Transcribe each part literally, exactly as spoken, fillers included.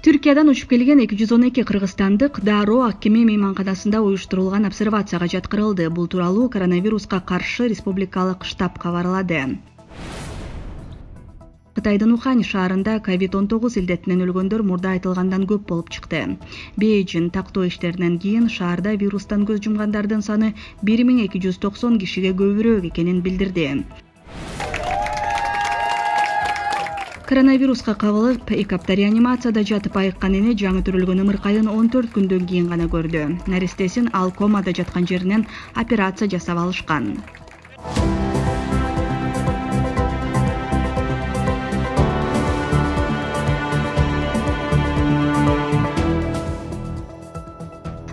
Түркиядан учуп келген эки жүз он эки кыргызстандык Дароо Аккеме мейманканасында уюштурулган обсервацияга жаткырылды. Бул тууралуу коронавируска каршы республикалык штаб кабарлады. Кытайдын Ухань шаарында ковид он тогуз илдетинен өлгөндөр мурда айтылгандан көп болуп чыкты. Бейжин тактоо иштеринен кийин шаарда вирустан көз жумгандардын саны бир миң эки жүз токсон кишиге көбүрөөк экенин билдирди. Коронавируска кабылып, эки апта реанимацияда жатып айыккан эне жаңы төрөлгөн ымыркайын он төрт күндөн кийин гана көрдү. Наристесин ал комада жаткан жеринен операция жасап алышкан.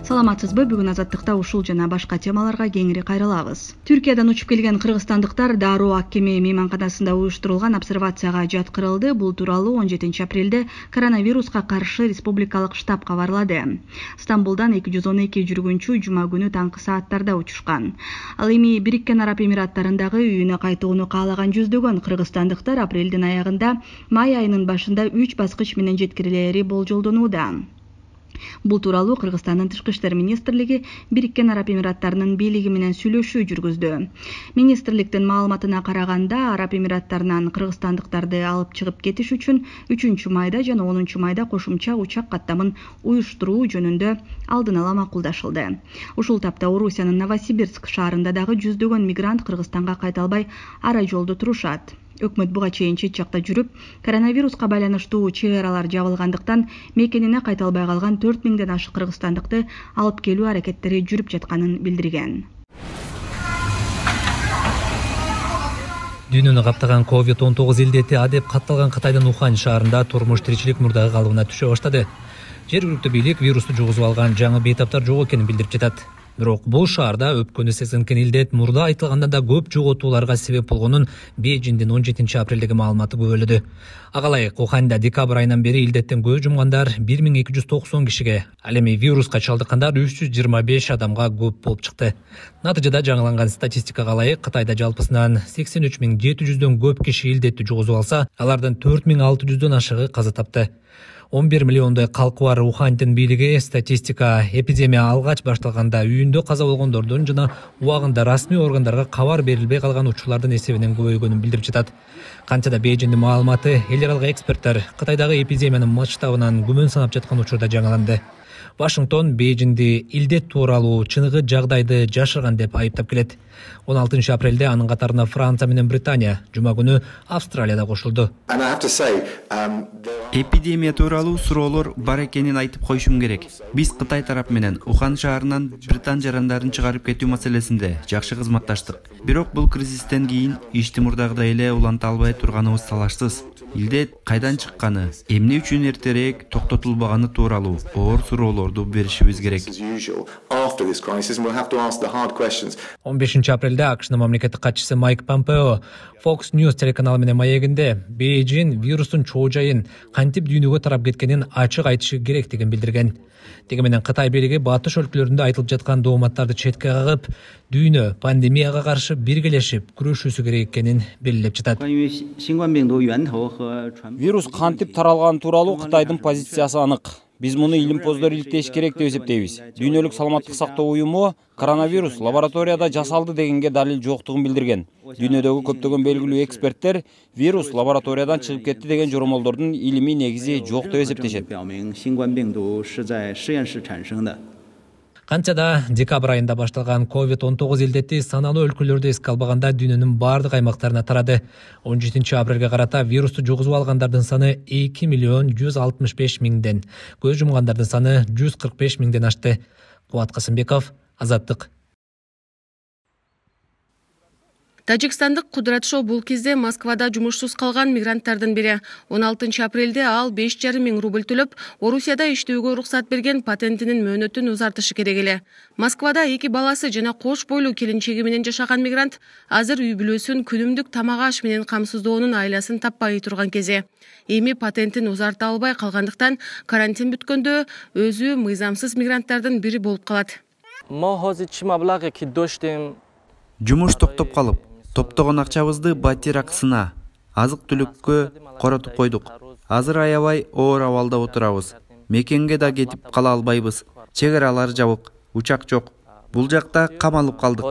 Саламатсызбы? Бүгүн Азаттыкта ушул жана башка темаларга кеңири кайрылабыз. Түркиядан учуп келген кыргызстандыктар Дароо Аккеме мейманканасында уюштурулган обсервацияга жаткырылды. Бул тууралуу он жетинчи апрелде коронавируска каршы республикалык штаб кабарлады. Стамбулдан эки жүз он эки жүргүнчү жума күнү таңкы сааттарда учушкан. Ал эми Бириккен Араб Эмираттарындагы үйүнө кайтууну каалаган жүздөгөн кыргызстандыктар апрелдин аягында май айынын башында үч баскыч менен жеткирилери болжолдонууда. Бул тууралуу Кыргызстандын Тышкы иштер министрлиги Бириккен Араб Эмираттарынын бийлиги менен сүйлөшүү жүргүздү. Министрликтин маалыматына караганда, Араб Эмираттарынан кыргызстандыктарды алып чыгып кетиш үчүн үчүнчү майда жана онунчу майда кошумча учак каттамын уюштуруу жөнүндө алдын ала макулдашылды. Ушул тапта Орусиянын Новосибирск шаарында дагы жүздөгөн мигрант Кыргызстанга кайта албай ара жолдо турушат. Өкмөт буга чейин чет жакта жүрүп, коронавируска байланыштуу чек аралар жабылгандыктан мекенине кайта албай калган төрт миңден ашык кыргызстандыкты алып келүү аракеттери жүрүп жатканын билдирген. Дүйнөнү каптаган ковид он тогуз илдети адеп катталган Кытайдын Ухань шаарында турмуш тиричилик мурдагы калыбына түшө баштады. Жергиликтүү бийлик вирусту жугузуп алган жаңы бейтаптар жок экенин билдирип жатат. Бирок бул шаарда өпкөнү сезинкен илдет мурда айтылгандан да көп жоготууларга себеп болгонун Бейжиндин он жетинчи апрелдеги маалыматы күбөлөдү. Ага ылайык Уханьда декабрь айынан бери илдеттен көз жумгандар бир миң эки жүз токсон кишиге, ал эми вируска чалдыккандар үч жүз жыйырма беш адамга көп болуп чыкты. Натыйжада жаңыланган статистикага ылайык Кытайда жалпысынан сексен үч миң жети жүздөн көп киши илдетти жугузуп алса, алардын төрт миң алты жүздөн ашыгы каза тапты. он бир миллиондой калкы бар Уханьдын бийлиги статистика эпидемия алгач башталганда үйүндө каза болгондордун жана убагында расмий органдарга кабар берилбей калган учурлардын эсебинен көбөйгөнүн билдирип жатат. Канча да Бейжиндин маалыматы эл аралык эксперттер Кытайдагы эпидемиянын масштабынан күмөн санап жаткан учурда жаңыланды. Вашингтон Бейжинди илдет тууралуу чыныгы жагдайды жашырган деп айыптап келет. он алтынчы апрелде анын катарына Франция менен Британия, жума күнү Австралияда кошулду. Эпидемия тууралуу суроолор бар экенин айтып коюшум керек. Биз Кытай тарап менен Ухань шаарынан Британ жарандарын чыгарып кетүү маселесинде жакшы кызматташтык. Бирок бул кризистен кийин ишти мурдагыдай эле уланта албай турганыбыз талашсыз. Илдет кайдан чыкканы, эмне үчүн эртерээк токтотулбаганы тууралуу оор суроолорду беришибиз керек. он бешинчи апрелде АКШнын мамлекеттик катчысы Майк Помпео Fox News телеканалы менен маегинде Бейжин вирустун чоо жайын кантип дүйнөгө тарап кеткенин ачык айтышы керектигин билдирген. Деги менен Кытай бийлиги батыш өлкөлөрүндө айтылып жаткан дооматтарды четке кагып, дүйнө пандемияга каршы биргелешип күрөшүүсү керек экенин белгилеп жатат. Вирус кантип таралганы тууралуу Кытайдын позициясы анык. Биз муну илимпоздор иликтеш керек деп эсептейбиз. Дүйнөлүк саламаттык сактоо уюму коронавирус лабораторияда жасалды дегенге далил жоктугун билдирген. Дүйнөдөгү көптөгөн белгилүү эксперттер вирус лабораториядан чыгып кетти деген жоромолдордун илимий негизи жок деп эсептешет. Канча да декабрь айында башталган ковид он тогуз илдети саналуу өлкөлөрдө эске албаганда дүйнөнүн бардык аймактарына тарады. он жетинчи апрелге карата вирусту жугузуп алгандардын саны эки миллион жүз алтымыш беш миңден, көз жумгандардын саны жүз кырк беш миңден ашты. Кубат Касымбеков, Азаттык. Тажикстандык Кудрат Шоу бул кезде Москвада жумушсуз калган мигранттардын бири. он алтынчы апрелде ал беш жарым миң рубль төлөп, Орусияда иштөөгө уруксат берген патентинин мөөнөтүн узартышы керек эле. Москвада эки баласы жана кош бойлуу келинчеги менен жашаган мигрант азыр үй бүлөсүн күнүмдүк тамак аш менен камсыздоонун айласын таппай турган кези. Эми патентин узарта албай калгандыктан карантин бүткөндө өзү мыйзамсыз мигранттардын бири болуп калат. Жумуш токтоп калып, топтогон акчабызды батир акысына, азык түлүккө коротуп койдук. Азыр аябай оор абалда отурабыз. Мекенге да кетип кала албайбыз. Чек аралар жабык, учак жок. Бул жакта камалып калдык.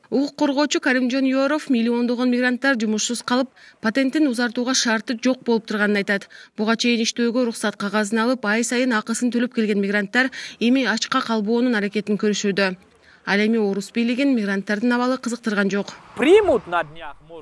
Укук коргоочу Каримжон Юоров миллиондогон мигранттар жумушсуз калып, патентин узартууга шарты жок болуп турганын айтат. Буга чейин иштөөгө уруксат кагазын алып, ай сайын акысын төлөп келген мигранттар эми ачка калбоонун аракетин көрүшүүдө. Ал эми орус бийлигин мигранттардын абалы кызыктырган жок.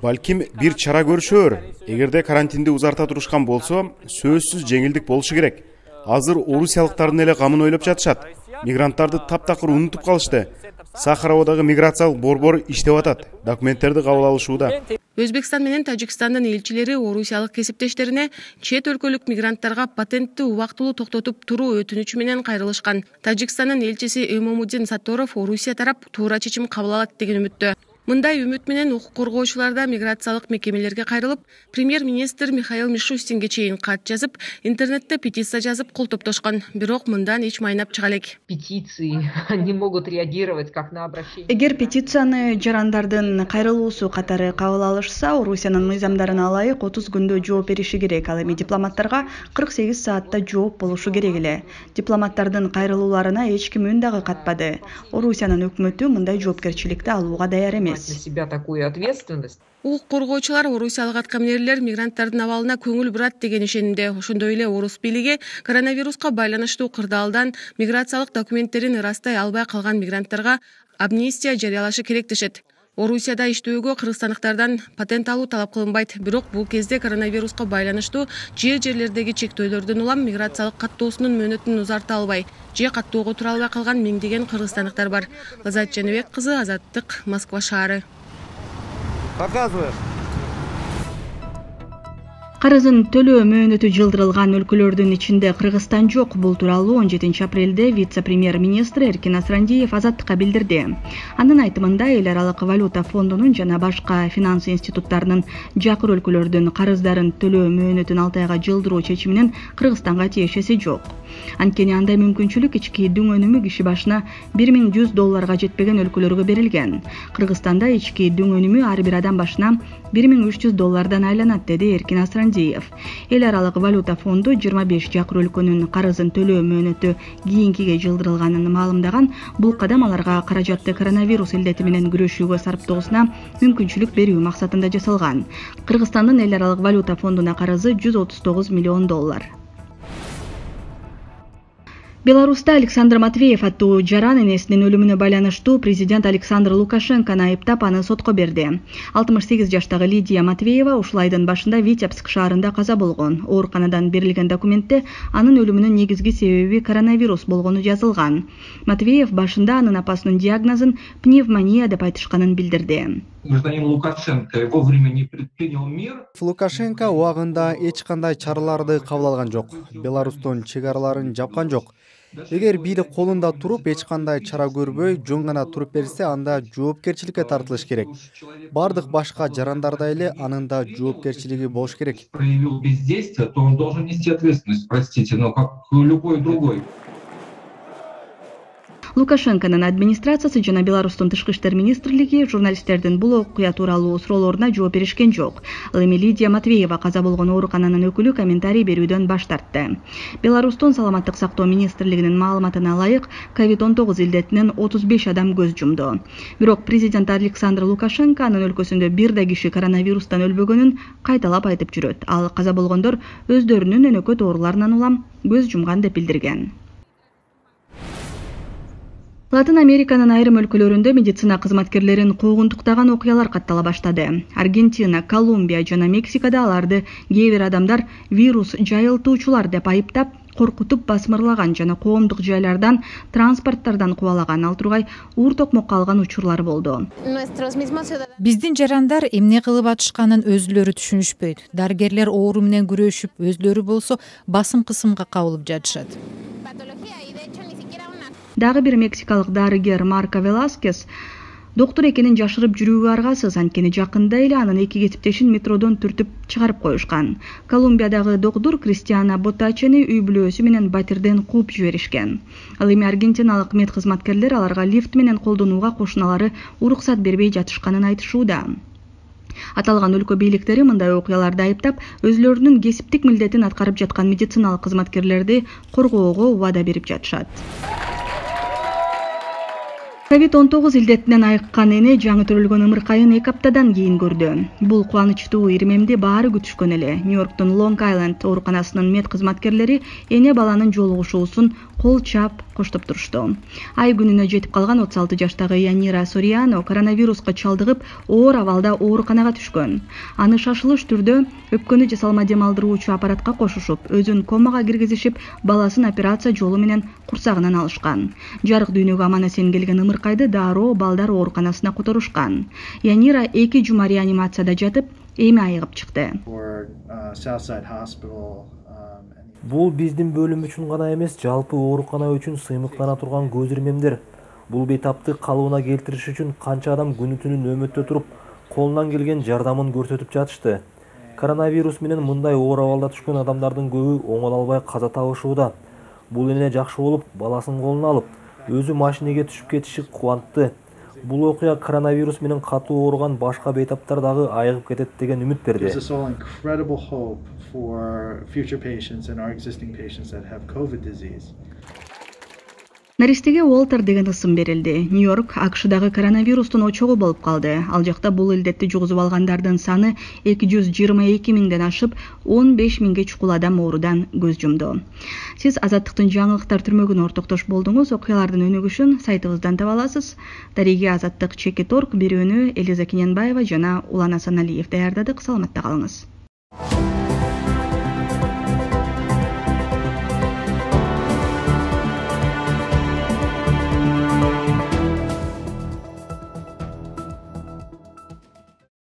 Балким бир чара көрүшөр. Эгерде карантинди узарта турушкан болсо, сөзсүз жеңилдик болушу керек. Азыр орусиялыктардын эле камын ойлоп жатышат. Мигранттарды таптакыр унутуп калышты. Сахаровдагы миграциялык борбор иштеп атат. Документтерди кабыл алышууда. Өзбекстан менен Тажикстандын элчилери орусиялык кесиптештерине чет өлкөлүк мигранттарга патентти убактылуу токтотуп туруу өтүнүчү менен кайрылышкан. Тажикстандын элчиси Эмомуддин Сатторов Орусия тарап туура чечим кабыл алат деген үмүттө. Мындай үмүт менен укук коргоочулар да миграциялык мекемелерге кайрылып, премьер-министр Михаил Мишустинге чейин кат жазып, интернетте петиция жазып кол топтошкон. Бирок мындан эч майнап чыга элек. Петиции не могут реагировать как на обращение. Эгер петицияны жарандардын кайрылуусу катары кабыл алышса, Орусиянын мыйзамдарына ылайык отуз күндө жооп бериши керек. Ал эми дипломаттарга кырк сегиз саатта жооп болушу керек эле. Дипломаттардын кайрылууларына эч ким үн дагы катпады. Орусиянын өкмөтү мындай жоопкерчиликти алууга даяр эмес. На себя такую ответственность. Укук коргоочулар орусиялык аткаминерлер мигранттардын абалына көңүл бурат деген ишенимде. Ошондой эле орус бийлиги коронавируска байланыштуу кырдаалдан миграциялык документтерин ырастай албай калган мигранттарга амнистия жарыялашы керек дешет. Орусияда иштөөгө кыргызстандыктардан патент алуу талап кылынбайт. Бирок бул кезде коронавируска байланыштуу же жерлердеги чектөөлөрдөн улам миграциялык каттоосунун мөөнөтүн узарта албай, же каттоого тура албай калган миңдеген кыргызстандыктар бар. Лазат Жаныбек кызы, Азаттык, Москва шаары. Показываешь. Карызын төлөө мөөнөтү жылдырылган өлкөлөрдүн ичинде Кыргызстан жок. Бул тууралуу он жетинчи апрелде вице-премьер-министр Эркин Асрандиев Азаттыкка билдирди. Анын айтымында эл аралык валюта фондунун жана башка финанс институттарынын жакыр өлкөлөрдүн карыздарын төлөө мөөнөтүн алты айга жылдыруу чечиминин Кыргызстанга тиешеси жок. Анткени андай мүмкүнчүлүк ички дүң өнүмү киши башына бир миң жүз долларга жетпеген өлкөлөргө берилген. Кыргызстанда ички дүң өнүмү ар бир адам башына бир миң үч жүз доллардан айланат, деди Эркин Асрандиев. Эл аралык валюта фонду жыйырма беш жакыр өлкөнүн карызын төлөө мөөнөтү кийинкиге жылдырылганын маалымдаган. Бул кадам аларга каражатты коронавирус илдети менен күрөшүүгө сарптоосуна мүмкүнчүлүк берүү максатында жасалган. Кыргызстандын эл аралык валюта фондуна карызы жүз отуз тогуз миллион доллар. Беларуста Александр Матвеев аттуу жаран энесинин өлүмүнө байланыштуу президент Александр Лукашенкону айыптап, аны сотко берди. алтымыш сегиз жаштагы Лидия Матвеева ушул айдын башында Витебск шаарында каза болгон. Ооруканадан берилген документте анын өлүмүнүн негизги себеби коронавирус болгону жазылган. Матвеев башында анын апасынын диагнозун пневмония деп айтышканын билдирди. Гражданин Лукашенко вовремя не предпринял мер. Лукашенко убагында эч кандай чараларды кабыл алган жок. Беларустун чек араларын жапкан жок. Эгер бийлик колунда туруп эч кандай чара көрбөй, жөн гана туруп берсе, анда жоопкерчиликке тартылыш керек. Бардык башка жарандарда эле анын да жоопкерчилиги болуш керек. Проявил бездействие, то он должен нести ответственность, простите, но как любой другой. Лукашенконун администрациясы жана Беларустун тышкы иштер министрлиги журналисттердин бул окуя тууралуу суроолоруна жооп беришкен жок. Ал эми Лидия Матвеева каза болгон оорукананын өкүлү комментарий берүүдөн баш тартты. Беларустун саламаттык сактоо министрлигинин маалыматына ылайык, ковид он тогуз илдетинен отуз беш адам көз жумду. Бирок президент Александр Лукашенко анын өлкөсүндө бир да киши коронавирустан өлбөгөнүн кайталап айтып жүрөт. Ал каза болгондор өздөрүнүн өнөкөт ооруларынан улам көз жумган деп билдирген. Латын Американын айрым өлкөлөрүндө медицина кызматкерлерин куугунтуктаган окуялар каттала баштады. Аргентина, Колумбия жана Мексикада аларды кээ бир адамдар вирус жайылтуучулар деп айыптап, коркутуп басмырлаган жана коомдук жайлардан, транспорттардан кубалаган. Ал тургай уур токмокко алган учурлар болду. Биздин жарандар эмне кылып атышканын өзүлөрү түшүнүшпөйт. Дарыгерлер оору менен күрөшүп, өзүлөрү болсо басым кысымга кабылып жатышат. Дагы бир мексикалык дарыгер Марко Веласкес доктор экенин жашырып жүрүүгө аргасыз, анткени жакында эле анын эки кесиптешин метродон түртүп чыгарып коюшкан. Колумбиядагы доктор Кристиана Ботачени үй бүлөсү менен батирден кууп жиберишкен. Ал эми аргентиналык мед кызматкерлер аларга лифт менен колдонууга кошуналары уруксат бербей жатышканын айтышууда. Аталган өлкө бийликтери мындай окуяларды айыптап, өзлөрүнүн кесиптик милдетин аткарып жаткан медициналык кызматкерлерди коргоого убада берип жатышат. ковид он тогуз илдетинен айыккан эне жаңы төрөлгөн ымыркайын эки аптадан кийин көрдү. Бул кубанычтуу ирмемди баары күтүшкөн эле. Нью-Йорктун Лонг-Айленд ооруканасынын мед кызматкерлери эне баланын жолугушуусун кол чап коштоп турушту. Ай күнүнө жетип калган отуз алты жаштагы Янира Сориано коронавируска чалдыгып, оор абалда ооруканага түшкөн. Аны шашылыш түрдө өпкөнү жасалма дем алдыруучу аппаратка кошушуп, өзүн комага киргизишип, баласын операция жолу менен курсагынан алышкан. Жарык дүйнөгө аман-эсен келген ымыркайды дароо балдар ооруканасына которушкан. Янира эки жума реанимацияда жатып, эми айыгып чыкты. Бул биздин бөлүм үчүн гана эмес, жалпы оорукана үчүн сыймыктана турган көз ирмемдер. Бул бейтапты калыбына келтириш үчүн канча адам күнү-түнү нөөмөттө туруп, колунан келген жардамын көрсөтүп жатышты. Коронавирус менен мындай оор абалда түшкөн адамдардын көбү оңоло албай каза табышууда. Бул эне жакшы болуп, баласын колуна алып, өзү машинеге түшүп кетиши кубантты. Бул окуя коронавирус менен катуу ооруган башка бейтаптар дагы айыгып кетет деген үмүт берди. Наристеге Уолтер деген ысым берилди. Нью-Йорк АКШдагы коронавирустун очогу болуп калды. Ал жакта бул илдетти жугузуп алгандардын саны эки жүз жыйырма эки миңден ашып, он беш миңге чукул адам оорудан көз жумду. Сиз Азаттыктын жаңылыктар түрмөгүнө ортоктош болдуңуз. Окуялардын өнүгүшүн сайтыбыздан таба аласыз. Дариги Азаттык чекит точка орг бирөөнү Элиза Кененбаева жана Улан Асаналиев даярдадык. Саламатта калыңыз.